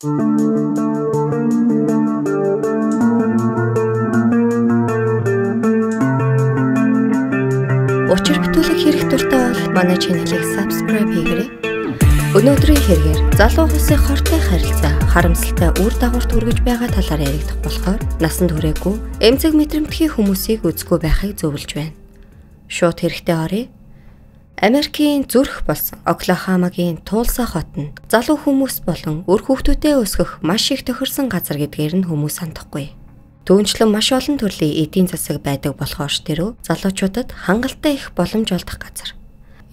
Учир бүтүүлэг хэрэг дуртай бол манай чанелыг subscribe хийгээрэй. Өнөөдрийн хэрэгээр залуу хүсээ хортой харилцаа харамсалтай үр дагавар хүргэж байгаа талаар яригдах болохоор насанд хүрээгүй эмзэг мэдрэмтгий хүмүүсийг үзгүй байхыг зөвлөж байна. Шууд хэрэгтэй оръё. Америкийн зүрх болсон Оклахомагийн Тулса хот нь залуу хүмүүс болон үр хүүхдүүдэд өсгөх маш их тохирсон газар гэдгээр нь хүмүүс сандахгүй. Түүнчлэн маш олон төрлийн эдийн засаг байдаг болохоор ч тэрөө залуучуудад хангалттай их боломж олдох газар.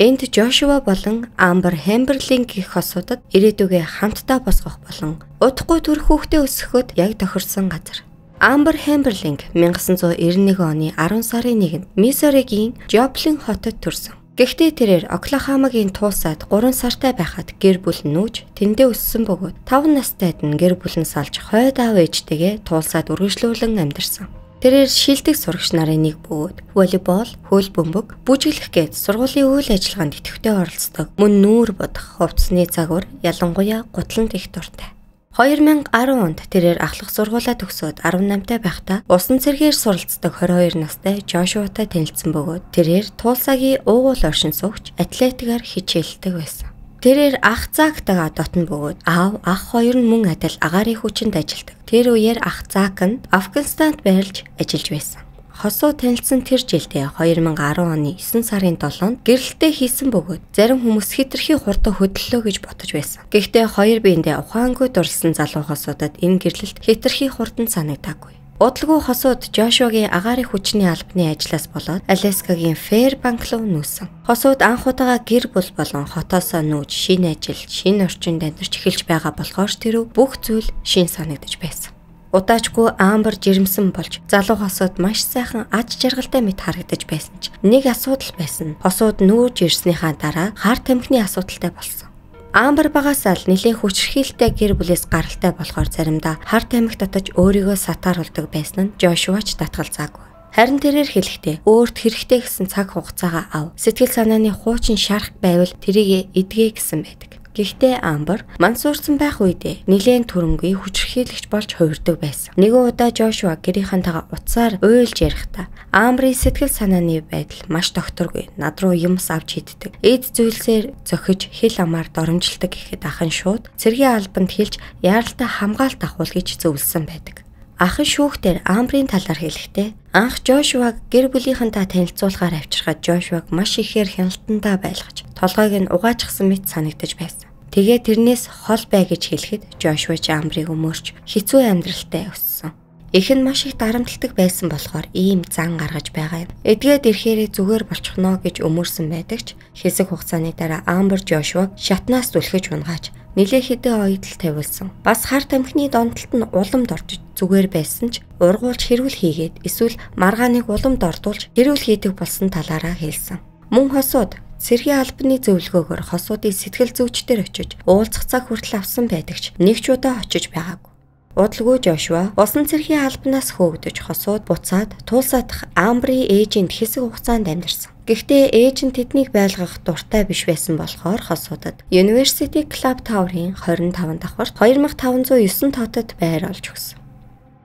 Энд Жошуа болон Амбер Хэмберлинг гэх хосуудад ирээдүгээ хамтдаа босгох болон удахгүй төр хүүхдээ өсгөхөд яг тохирсон газар. Амбер Хэмберлинг 1991 оны 10 сарын 1-нд Миссуригийн Жоплин хотод төрсөн. Гэхдээ тэрээр Оклахомагийн Тулсад 3 сартай байхад гэр бүл нүүж тэндээ өссөн бөгөөд 5 настайд нь гэр бүл нь салж хойд аав ээжтэйгээ Тулсад үргэлжлүүлэн амьдарсан. Тэрээр шилдэг сурагч нарын нэг бөгөөд волейбол, хөл бөмбөг, бүжиглэх гээд сургуулийн үйл ажиллагаанд идэвхтэй оролцдог. Мөн нүүр бодох, хувцсны загвар, ялангуяа гутланд их дуртай. 2010 онд тэрээр ахлах сургуулаа төгсөөд 18-тай байхдаа усан цэргээр суралцдаг 22 настай Жошуатай танилцсан бөгөөд тэрээр Тулсагийн уугуул оршин суугч атлетикаар хичээлдэг байсан. Тэрээр ах Зактайгаа дотн бөгөөд аав ах хоёр нь мөн адил агаарын хүчинд ажилладаг. Тэр үеэр ах Зак нь Афганистанд байрлаж ажиллаж байсан. Хосуу танилцсан тэр жилдээ 2010 оны 9 сарын 7-нд гэрэлтээ хийсэн бөгөөд зарим хүмүүс хэтэрхий хурдан хөдлөлөө гэж бодож байсан. Гэхдээ хоёр биендээ ухаангүй дурласан залуу хосуудад энэ гэрлэлт хэтэрхий хурдан санагдаагүй. Удалгүй хосууд Жошуагийн агаарын хүчний албаны ажлаас болоод Аляскагийн Фэрбанк руу нүүсэн. Хосууд анх удаага гэр бүл болон хотоосоо нүүж шинэ ажил, шинэ орчинд амьдарч эхэлж байгаа болохоор тэр бүх зүйл шин санагдаж байсан. Удаачгүй Амбер жирэмсэн болж залуу хосууд маш сайхан аж жаргалтай мэт харагдаж байсан ч нэг асуудал байсан. Хосууд нүүж ирснийхаа дараа хар тамхины асуудалтай болсон. Амбер багасаа л нэлээд хүчрхийлтэй гэр бүлээс гаралтай болохоор заримдаа хар тамхи татаж өөрийгөө сатааруулдаг байсан нь Жошуач татгалзаагүй. Харин тэрээр хэлэхдээ өөрт хэрэгтэй гэсэн цаг хугацаагаа ав. Сэтгэл санааны хуучин шарах байвал тэрийг эдгээ гэсэн байдаг. Гэхдээ Амбер мансуурсан байх үедээ нэлээд түрэмгүй хүчрхийлэгч болж хувирдаг байсан. Нэгэн удаа Жошуа гэрийнхэнтэйгээ утсаар уйлж ярихдаа Амберийн сэтгэл санааны байдал маш докторгүй. Над руу юмс авч иддэг. Эд зүйлсээр зохиж хэл амаар доромжилдаг гэхэд ахын шууд цэргийн албанд хэлж яаралтай хамгаалт авах гэж зөвлөсөн байдаг. Ахын шүүхтэр Амберийн талаар хэлэхдээ анх Жошуаг гэр бүлийнхэнтэй танилцуулахаар авчирхад Жошуаг маш ихээр хяналтандаа байлгаж толгойг нь угаачсан мэт санагдаж байсан. Тэгээ тэрнээс хол бай гэж хэлэхэд Жошуа ч Амберийг өмөрч хэцүү амьдралтай өссөн. Их нь маш их дарамтлагдаг байсан болохоор ийм зан гаргаж байгаа юм. Эдгээд ирэхээрээ зүгээр болчихно гэж өмөрсөн байдаг ч хэсэг хугацааны дараа Амбер Жошуаг шатнаас зүлхэж унгааж нэлээ хэдэн оёдол тавиулсан. Бас хар тамхины донтолт нь уламд орж зүгээр байсан ч ургуулж хэрүүл хийгээд эсвэл маргааныг уламд ордуулж хэрүүл хийдэг болсон талаараа хэлсэн. Мөн хосууд цэргийн албаны зөвлөгөөгөөр хосуудын сэтгэл зүйчдэр очиж уулзах цаг хүртэл авсан байдаг ч нэг ч удаа очиж байгаагүй. Удалгүй Жошуа усан цэргийн албанаас хөөгдөж хосууд буцаад Тулсад Амберийн ээжинд хэсэг хугацаанд амьдарсан. Гэхдээ ээж нь тэднийг байлгах дуртай биш байсан болохоор хосуудад University Club Tower-ын 25 давхарт 2509 тоотод байр олж өгсөн.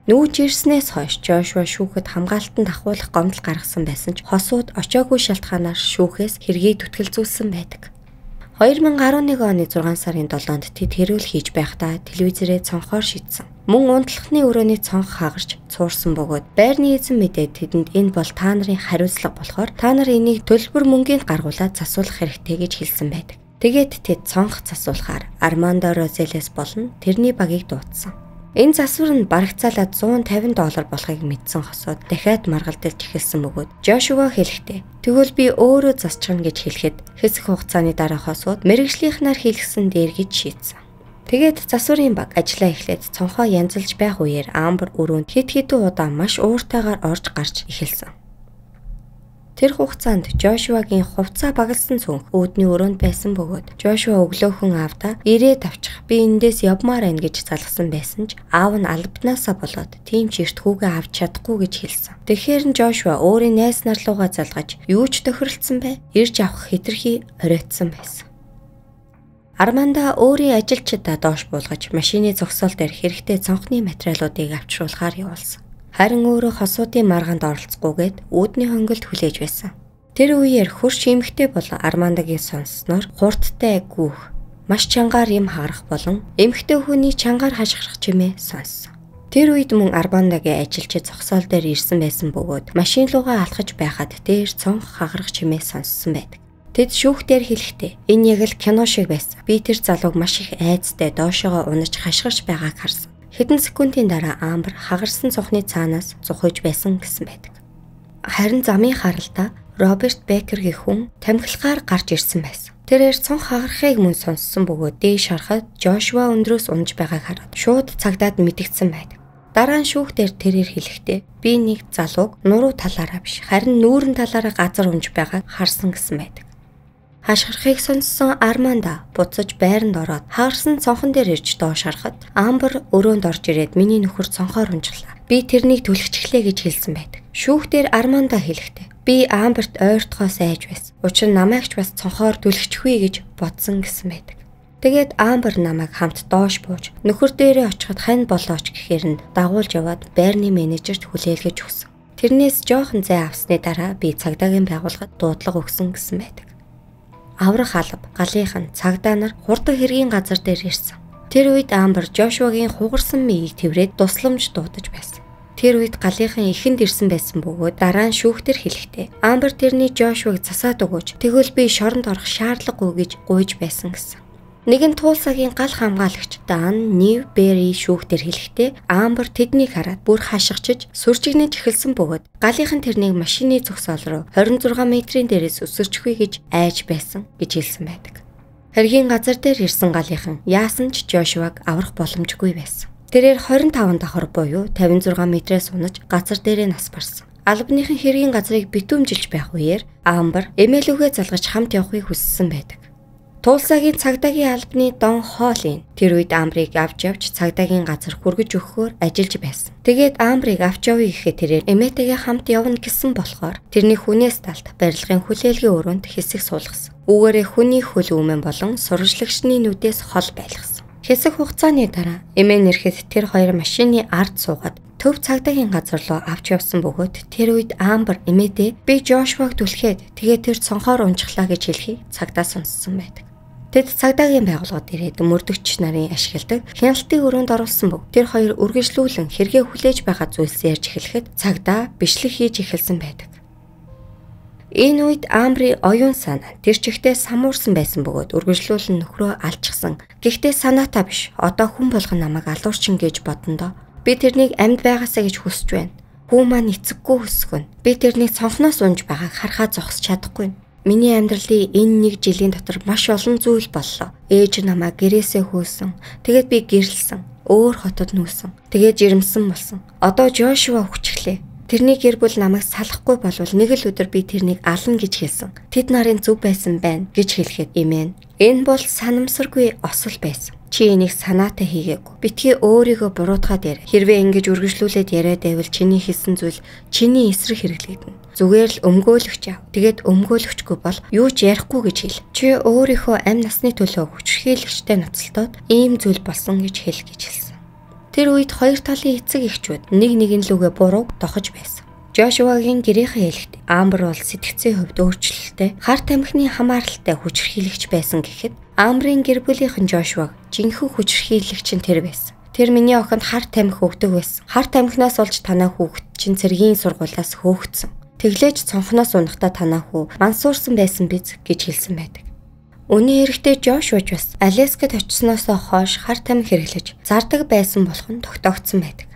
Нүүж ирснээс хойш Жошуа шүүхэд хамгаалтанд ахуулах гомдол гаргасан байсан ч хосууд очоогүй шалтгаанаар шүүхээс хэргийг түтгэлзүүлсэн байдаг. 2011 оны 6 сарын 7-нд тэд хэрүүл хийж байхдаа телевизээрээ цонхоор шийдсэн. Мөн унтлахны өрөөний цонх хагарч цуурсан бөгөөд байрны эзэн мэдээд тэдэнд энэ бол та нарын хариуцлага болохоор та нар энийг төлбөр мөнгөнд гаргуулад засуулах хэрэгтэй гэж хэлсэн байдаг. Тэгээд тэд цонх засуулахаар Армандо Розелес болон тэрний багийг дуудсан. Энэ засвар нь барагцаалаад $150 болохыг мэдсэн хосууд дахиад маргалдалж эхэлсэн бөгөөд Жошуа хэлэхдээ тэгвэл би өөрөө засчихна гэж хэлэхэд хэсэг хугацааны дараа хосууд мэргэжлийнхнаар хийлгсэн дээр гэж шийдсэн. Тэгээд засварын баг ажиллаа эхлээд цонхоо янзалж байх үеэр Амбер өрөөнд хэд хэдэн удаа маш ууртайгаар орж гарч эхэлсэн. Тэр хугацаанд Жошуагийн хувцас багалсан цүнх өөдний өрөөнд байсан бөгөөд Жошуа өглөөхөн аавдаа ирээд авчих би эндээс явмаар байна гэж залгасан байсан ч аав нь албанаасаа болоод тийм ч эрт хүүгээ авч чадахгүй гэж хэлсэн. Тэгэхээр нь Жошуа өөрийн найз нар руугаа залгаж юу ч тохиролцсон бай, ирж авах хэтэрхий оройтсан байсан. Арманда өөрийн ажилчдаа доош буулгаж машины зогсоол дээр хэрэгтэй цонхны материалуудыг авчруулахаар явуулсан. Харин өөрөө хосуудын маргаанд оролцохгүйгээд үүдний хонгилд хүлээж байсан. Тэр үеэр хөрш эмэгтэй бол Армандагийн сонссноор хурдтай гүүх, маш чангаар юм харах болон эмэгтэй хүний чангаар хашгирах чимээ сонссон. Тэр үед мөн Армандагийн ажилчид зогсоол дээр ирсэн байсан бөгөөд машин руугаа алхаж байхад дээр цонх хагарах чимээ сонссон байдаг. Тэд шүүхтээр хэлэхдээ энэ яг л кино шиг байсан. Би тэр залууг маш их айцтай доошоогоо унаж хашгирч байгааг харсан. Хэдэн секундын дараа Амбер хагарсан цонхны цаанаас зухиж байсан гэсэн байдаг. Харин замын харалтаа Роберт Бекергийн хүн тамхилгаар гарч ирсэн байсан. Тэрээр цонх хагарахыг мөн сонссон бөгөөд дээш харахад Жошуа өндрөөс унаж байгааг хараад шууд цагдаад мэдгдсэн байдаг. Дараа нь шүүхтээр тэрээр хэлэхдээ би нэг залууг нуруу талаараа биш харин нүүрэн талаараа газар унж байгааг харсан гэсэн байдаг. Хашгирахыг сонссон Арманда буцаж байранд ороод хагарсан цонхон дээр ирж доош харахад Амбер өрөөнд орж ирээд миний нөхөр цонхоор унжглаа. Би тэрнийг түлхчихлээ гэж хэлсэн байдаг. Шүүхтээр Арманда хэлэхдээ би Амберт ойртгоос айж байсан. Учир нь намайг ч бас цонхоор түлхчихвээ гэж бодсон гэсэн байдаг. Тэгээд Амбер намайг хамт доош бууж нөхөр дээрээ очиход хань болооч гэхээр нь дагуулж яваад байрны менежерт хүлээлгэж өгсөн. Тэрнээс жоохон зай авсны дараа би цагдаагийн байгууллагад дуудлага өгсөн гэсэн байдаг. Аврах алба, галийнхан, цагдаа нар хурдан хэргийн газар дээр ирсэн. Тэр үед Амбер Жошуагийн хугарсан миийг тэврээд тусламж дуудаж байсан. Тэр үед галийнхан ихэнд ирсэн байсан бөгөөд дараа нь шүүхтэр хэлэхдээ Амбер тэрний Жошуаг засаад өгөөч. Тэгвэл би шоронд орох шаардлагагүй гэж гуйж байсан гэсэн. Нэгэн Тулсагийн гал хамгаалагч Дан Ньюбери шүүхтэр хэлэхдээ Амбер тэднийг хараад бүр хашгичж сүржигнэж эхэлсэн бөгөөд галийнхан тэрнийг машины зогсоол руу 26 метрийн дээрээс өсөрчихвээ гэж айж байсан гэж хэлсэн байдаг. Хэргийн газар дээр ирсэн галийнхан яасан ч Жошуаг аврах боломжгүй байсан. Тэрээр 25 давхар буюу 56 метрээс унаж газар дээрээ нас барсан. Албаныхан хэргийн газрыг битүүмжилж байх үеэр Амбер эмээлүгээ залгаж хамт явахыг хүссэн байдаг. Тулсагийн цагдаагийн албаны Дон Холлин тэр үед Амбрыг авч явж цагдаагийн газар хүргэж өгөхөөр ажиллаж байсан. Тэгээд Амбрыг авч явъя гэхэд тэрээр эмээтэйгээ хамт явна гэсэн болохоор тэрний хүнээс талд барилгын хүлээлгийн өрөөнд хэсэг суулгасан. Үүгээрээ хүний хөл үүмэн болон сурвалжлагчны нүдээс хол байлгасан. Хэсэг хугацааны дараа эмээ нэрхэд тэр хоёр машины ард суугаад төв цагдаагийн газар руу авч явсан бөгөөд тэр үед Амбер эмээдээ би Жошуаг түлхээд тэгээд тэр цонхоор унжглаа гэж хэлхийг цагдаа сонссон байдаг. Тэд цагдаагийн байгууллагад ирээд мөрдөгч нарын ашигладаг хяналтын өрөөнд оруулсан бөгөөд тэр хоёр үргэлжлүүлэн хэрэгээ хүлээж байгаа зүйлсээ ярьж эхлэхэд цагдаа бичлэг хийж эхэлсэн байдаг. Энэ үед Амбри оюун санаа тэр чигтээ самуурсан байсан бөгөөд үргэлжлүүлэн нөхрөө алчихсан. Гэхдээ санаатаа биш. Одоо хүн болгон намайг алуурчин гэж бодондоо би тэрнийг амьд байгаасаа гэж хүсэж байна. Хүү маань эцэггүй хүсгэн. Би тэрнийг цонхноос унж байгааг харахаа зогсож чадахгүй. Миний амьдралын энэ нэг жилийн дотор маш олон зүйл боллоо. Ээж намайг гэрээсээ хөөсөн. Тэгээд би гэрлсэн. Өөр хотод нүүсэн. Тэгээд жирэмсэн болсон. Одоо Жошуа хүчглээ. Тэрний гэр бүл намайг салахгүй болвол нэг л өдөр би тэрнийг ална гэж хэлсэн. Тэд нарын зөв байсан байна гэж хэлэхэд эмээн. Энэ бол санамсаргүй осол байсан. Чи энийг санаатай хийгээгүй. Битгий өөрийгөө буруутгаад яар. Хэрвээ ингэж үргэлжлүүлээд яриад байвал чиний хийсэн зүйл чиний эсрэг хэрэглэгдэнэ. Зүгээр л өмгөөлөгч яв. Тэгээд өмгөөлөгчгүй бол юу ч ярихгүй гэж хэл. Чи өөрийнхөө амь насны төлөө хүчрхийлэгчтэй ноцолдоод ийм зүйл болсон гэж хэл гэж хэлсэн. Тэр үед хоёр талын эцэг эхчүүд нэг нэгэн лүгээ бурууг дохож байсан. Жошуагийн гэрийнхээ хэлэхэд Амбер бол сэтгцийн хувьд өөрчлөлттэй, хар тамхины хамааралтай хүчрхийлэгч байсан гэхэд Амбрын гэр бүлийнхэн Жошуаг жинхэнэ хүчрхийлэгч нь тэр байсан. Тэр миний охинд хар тамхи өгдөг байсан. Хар тамхинаас олж танаа хүүхэд чинь цэргийн сургуулиас хөөгдсөн. Тэглээж цонхноос унахдаа танаа хүү мансуурсан байсан биз гэж хэлсэн байдаг. Үүний эрэхтэй Жошуач бас Аляскад очсноос хойш хар тамхи хэрэглэж зардаг байсан болох нь тогтоогдсон байдаг.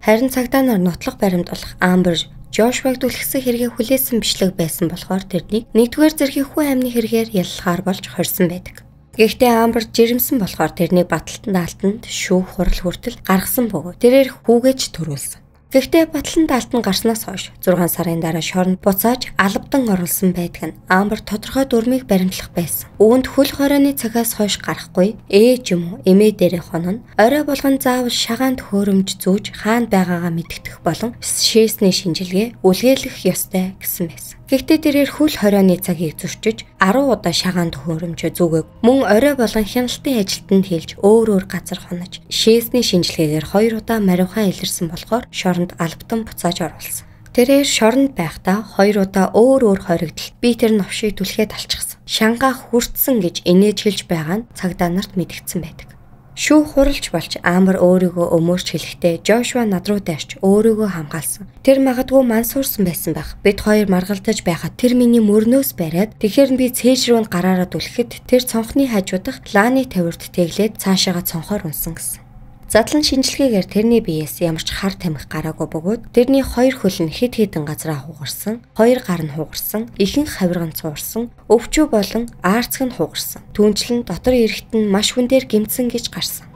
Харин цагдаа нар нотлох баримтлах Амбер Жошуаг түлхсэн хэрэгээ хүлээсэн бичлэг байсан болохоор тэрнийг 1-р зэргийн хүн амны хэрэгээр яллахаар болж хорьсон байдаг. Гэхдээ Амбер жирэмсэн болохоор тэрнийг баталтанд алтанд шүүх хурал хүртэл гаргасан бөгөөд тэрээр хүүгэж төрүүлсэн. Гэхдээ батланд алтан гарснаас хойш 6 сарын дараа шоронд буцааж албадан оруулсан байдаг нь Амбер тодорхой дүрмийг баримтлах байсан. Үүнд хөл хорооны цагаас хойш гарахгүй ээж юм уу эмээ дээрээ хонон орой болгон заавал шагаанд хөөрөмж зүүж хаана байгаагаа мэдгдэх болон шээсний шинжилгээ үлгээлэх ёстой гэсэн байсан. Гэхдээ тэрээр хөл хорионы цагийг зөрчиж 10 удаа шагаан төхөөрөмжөө зүгээг мөн орой болон хяналтын ажилтнанд хэлж өөр газар хонож шээсний шинжилгээгээр 2 удаа мариухан илэрсэн болохоор шоронд албатан буцааж оруулсан. Тэрээр шоронд байхдаа 2 удаа өөр хоригдол би тэр новшийг түлхээд алчихсан. Шангаа хүртсэн гэж инээж хэлж байгаа нь цагдаа нарт мэдгдсэн байдаг. Шүүх хуралж болж Амбер өөрийгөө өмөрч хэлэхдээ Жошуа над руу дайрч өөрийгөө хамгаалсан. Тэр магадгүй мансуурсан байсан байх. Бид хоёр маргалдаж байхад тэр миний мөрнөөс бариад тэгэхээр би цээж рүү гараараа түлхэхэд тэр цонхны хажуудах лааны тавирт тэглээд цаашаага цонхоор унсан гэсэн. Задлан шинжилгээгээр тэрний биеэс ямар ч хар тамхи гараагүй бөгөөд тэрний 2 хөл нь хэд хэдэн газраа хугарсан, 2 гар нь хугарсан, ихэнх хавирга нь цуурсан, өвчөө болон аарцаг нь хугарсан. Түүнчлэн дотор эрэхт нь маш хүн дээр гэмтсэн гэж гарсан.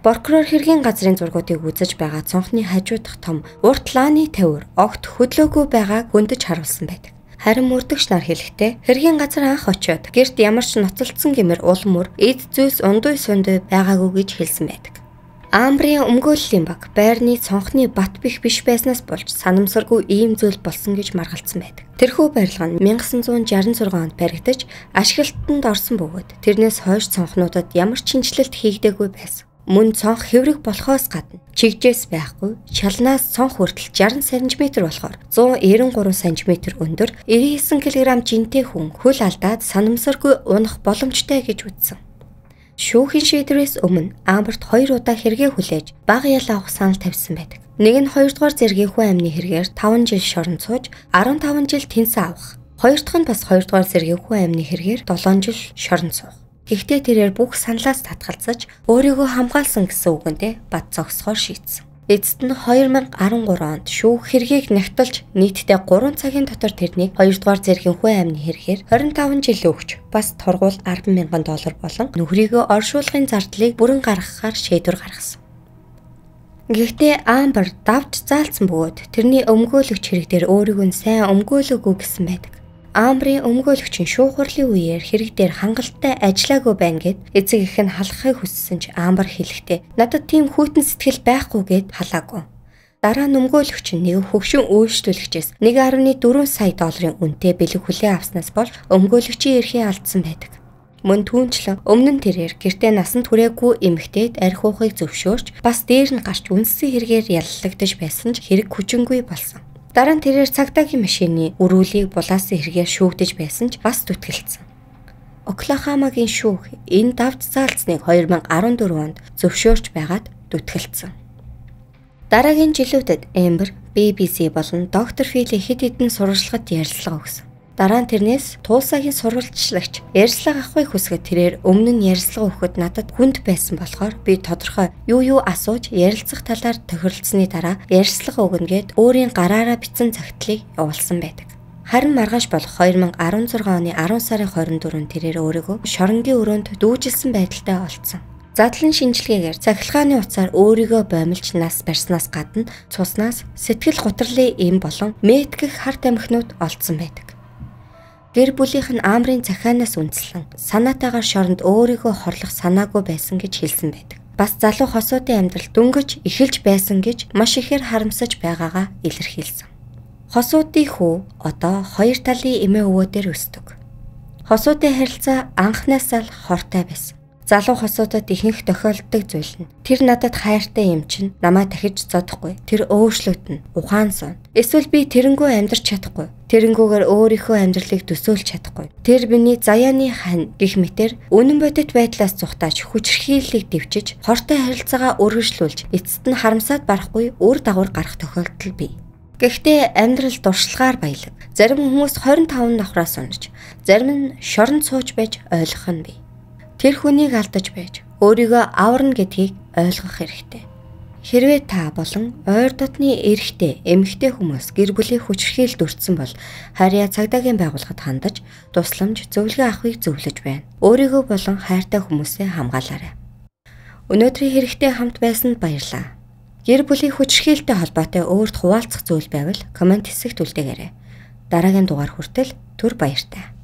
Прокурор хэргийн газрын зургуудыг үзэж байгаа цонхны хажуудах том урт лааны тавир огт хөдлөөгүй байгааг хөндөж харуулсан байдаг. Харин мөрдөгч нар хэлэхдээ хэргийн газар анх очиод гэрт ямар ч ноцолдсон гэмээр улмөр эд зүйлс ундуй сундуй байгаагүй гэж хэлсэн байдаг. Амбрийн өмгөөллийн баг байрны цонхны бат бих биш байснаас болж санамсаргүй ийм зүйл болсон гэж маргалцсан байдаг. Тэрхүү барилга нь 1966 онд баригдаж ашиглалтанд орсон бөгөөд тэрнээс хойш цонхнуудад ямар ч шинжилэлт хийгдээгүй байсан. Мөн цонх хэврэг болохоос гадна чигжээс байхгүй, шалнаас цонх хүртэл 60 см болохоор 193 см өндөр 99 кг жинтэй хүн хөл алдаад санамсаргүй унах боломжтой гэж үзсэн. Шүүхийн шийдвэрээс өмнө Амберт 2 удаа хэрэгээ хүлээж бага ял авах санал тавьсан байдаг. Нэг нь 2 дугаар зэргийн хүн амны хэрэгээр 5 жил шорон сууж 15 жил тэнцэн авах. Хоёр дахь нь бас 2 дугаар зэргийн хүн амны хэрэгээр 7 жил шорон суух. Гэхдээ тэрээр бүх саналаас татгалзаж өөрийгөө хамгаалсан гэсэн үгэндээ бат зогсохоор шийдсэн. Эцэст нь 2013 онд шүүх хэргийг нягтлж нийтдээ 3 цагийн дотор тэрнийг 2 дугаар зэргийн хүн амны хэрэгээр 25 жил өгч бас торгуул $10,000 болон нөхрийгөө оршуулгын зардлыг бүрэн гаргахаар шийдвэр гаргасан. Гэхдээ Амбер давж заалцсан бөгөөд тэрний өмгөөлөгч хэрэг дээр өөрийгөө сайн өмгөөлөөгүй гэсэн байдаг. Амбрийн өмгөөлөгч нь шүүх хурлын үеэр хэрэг дээр хангалттай ажиллаагүй байна гэд эцэг их нь халахыг хүссэн ч Амбер хэлэхдээ надад тийм хүйтэн сэтгэл байхгүй гэд халаагүй. Дараа нь өмгөөлөгч нь нэг хөгшин үйлчлүүлэгчээс $1.4 сая үнэтэй бэлэг хүлээн авснаас болж өмгөөлөгчийн эрхээ алдсан байдаг. Мөн түүнчлэн өмнө нь тэрээр гэртээ насанд хүрээгүй эмэгтэйд арх уухыг зөвшөөрч бас дээр нь гарч үндэсний хэрэгээр яллагдаж байсан ч хэрэг хүчингүй болсон. Дараа нь тэрээр цагдаагийн машины өрүүлийг булаасан хэрэгээр шүүгдэж байсан ч бас зүтгэлцсэн. Оклахомагийн шүүх энэ давж заалцсныг 2014 онд зөвшөөрч байгаад зүтгэлцсэн. Дараагийн жилүүдэд Амбер, BBC болон доктор Фили хэд хэдэн сурвалжлагад ярилцлага өгсөн. Дараа нь тэрнээс Тулсагийн сурвалжлагч ярилцлага авахыг хүсгээд тэрээр өмнө нь ярилцлага өгөхөд надад хүнд байсан болохоор би тодорхой юу асууж ярилцах талаар тохиролцсны дараа ярилцлага өгнө гэд өөрийн гараараа бичсэн цагтлыг явуулсан байдаг. Харин маргааш болох 2016 оны 10 сарын 24-нд тэрээр өөрийгөө шоронгийн өрөөнд дүүжилсэн байдалтай олдсон. Задлан шинжилгээгээр цахилгааны утсаар өөрийгөө боомлж нас барьснаас гадна цуснаас сэтгэл гутралын эм болон мэтгэх хар тамхинууд олдсон байдаг. Гэр бүлийнх нь Амбрийн захианаас үндэслэн санаатаагаар шоронд өөрийгөө хорлох санаагүй байсан гэж хэлсэн байдаг. Бас залуу хосуудын амьдрал дөнгөж эхэлж байсан гэж маш ихээр харамсаж байгаагаа илэрхийлсэн. Хосуудын хүү одоо 2 талын эмээ өвөөдөр өсдөг. Хосуудын харилцаа анхнаасаа л хортой байсан. Залуу хосуудад ихэнх тохиолддог зүйл нь тэр надад хайртай юм чинь намайг дахиж зодохгүй. Тэр өөрчлөгдөн, ухаан сон. Эсвэл би тэрнгүү амьдрч чадахгүй. Тэрэнгүүгээр өөрийнхөө амьдралыг төсөөлж чадахгүй. Тэр биний заяаны хань гэх мэтэр үнэн бодит байдлаас зүхтааж хүчрхийллийг дэвчиж, хортой харилцаагаа өргөжлүүлж, эцэст нь харамсаад барахгүй үр дагавар гарах тохиолдол бий. Гэхдээ амьдрал дуршлагаар баялаг. Зарим хүмүүс 25 давхраас унаж, зарим нь шоронд сууж байж ойлгох нь бий. Тэр хүнийг алдаж байж өөрийгөө аварна гэдгийг ойлгох хэрэгтэй. Хэрвээ та болон ойр дотны эрэгтэй, эмэгтэй хүмүүс гэр бүлийн хүчирхийлэлд өртсөн бол харьяа цагдаагийн байгууллагад хандаж тусламж, зөвлөгөө авахыг зөвлөж байна. Өөрийгөө болон хайртай хүмүүсээ хамгаалаарай. Өнөөдрийн хэрэгтэй хамт байсанд баярлалаа. Гэр бүлийн хүчирхийлэлтэй холбоотой өөрт хуваалцах зүйл байвал комент хэсэгт үлдээгээрэй. Дараагийн дугаар хүртэл түр баяртай.